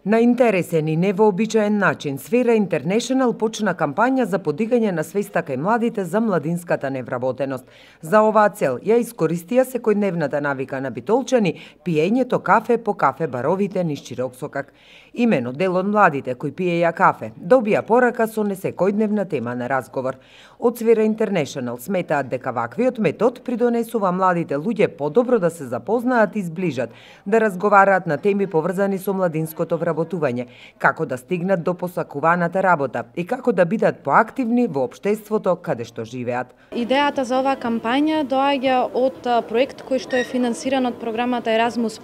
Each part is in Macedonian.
На интересен и невообичаен начин, Сфера Интернешнл почна кампања за подигање на свеста кај младите за младинската невработеност. За оваа цел ја искористија секојдневната навика на битолчани, пиењето кафе по кафе баровите низ широк сокак. Имено дел од младите кои пиеја кафе добија порака со несекојдневна тема на разговор. Од Сфера Интернешнл сметаат дека ваквиот метод придонесува младите луѓе подобро да се запознаат и зближат, да разговараат на теми поврзани со младинското вработување, како да стигнат до посакуваната работа и како да бидат поактивни во општеството каде што живеат. Идејата за оваа кампања доаѓа од проект кој што е финансиран од програмата Erasmus+,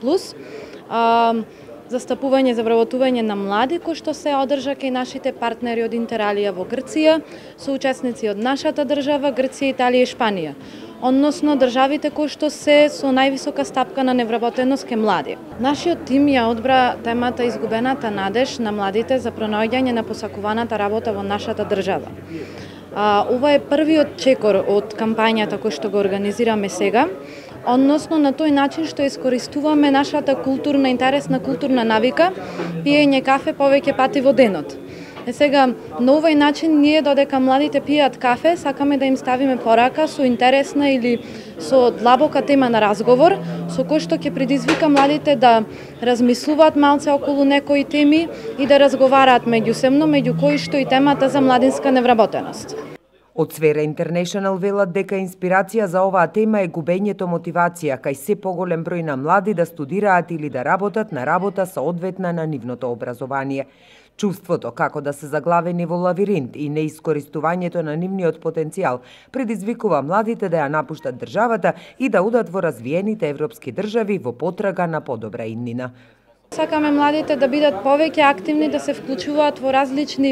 застапување за вработување на млади, кој што се одржа кај нашите партнери од Интералија во Грција, со учесници од нашата држава, Грција, Италија и Шпанија, односно државите кои што се со највисока стапка на невработеност кај млади. Нашиот тим ја одбра темата изгубената надеж на младите за пронаоѓање на посакуваната работа во нашата држава. Ова е првиот чекор од кампањата кој што го организираме сега, односно на тој начин што искористуваме нашата културна, интересна културна навика, пиење кафе повеќе пати во денот. Сега, на овој начин ние додека младите пијат кафе, сакаме да им ставиме порака со интересна или со длабока тема на разговор, со кој што ќе предизвика младите да размислуваат малце околу некои теми и да разговараат меѓусебно, меѓу кои што и темата за младинска невработеност. Од Сфера Интернешнл велат дека инспирација за оваа тема е губењето мотивација кај се поголем број на млади да студираат или да работат на работа соодветна на нивното образование. Чувството како да се заглавени во лавиринт и неискористувањето на нивниот потенцијал предизвикува младите да ја напуштат државата и да одат во развиените европски држави во потрага на подобра иднина. Сакаме младите да бидат повеќе активни, да се вклучуваат во различни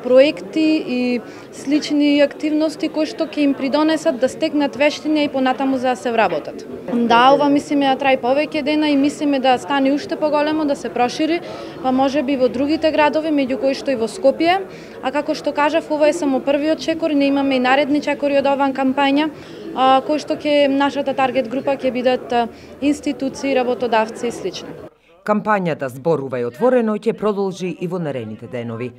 проекти и слични активности кои што ќе им придонесат да стекнат вештина и понатаму за да се вработат. Да, ова мислиме да траи повеќе дена и мислиме да стане уште поголемо, да се прошири, па можеби во другите градови, меѓу кои што и во Скопје. А како што кажав, ова е само првиот чекор, не имаме и наредни чекори од оваа кампања, кои што ќе нашата таргет група ќе бидат институции, работодавци и слично. Кампањата Зборувај отворено ќе продолжи и во наредните денови.